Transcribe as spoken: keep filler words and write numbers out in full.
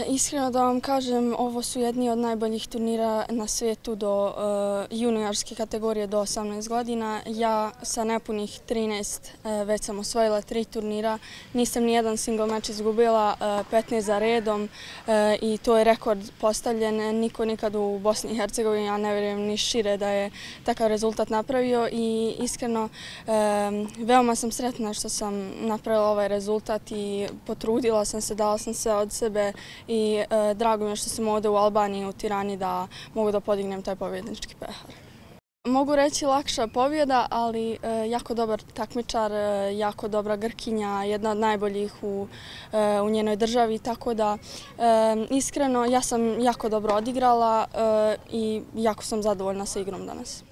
Iskreno da vam kažem, ovo su jedni od najboljih turnira na svijetu do juniorske kategorije do osamnaest godina. Ja sa nepunih trinaest već sam osvojila tri turnira. Nisam ni jedan single meč izgubila, petnaest za redom i to je rekord postavljen. Niko nikad u Bosni i Hercegovini, a ne vjerujem ni šire da je takav rezultat napravio i iskreno veoma sam sretna što sam napravila ovaj rezultat i potrudila sam se, dala sam sve od sebe i drago mi je što sam ovdje u Albaniji, u Tirani, da mogu da podignem taj pobjednički pehar. Mogu reći lakša pobjeda, ali jako dobar takmičar, jako dobra Grkinja, jedna od najboljih u, u njenoj državi, tako da iskreno ja sam jako dobro odigrala i jako sam zadovoljna sa igrom danas.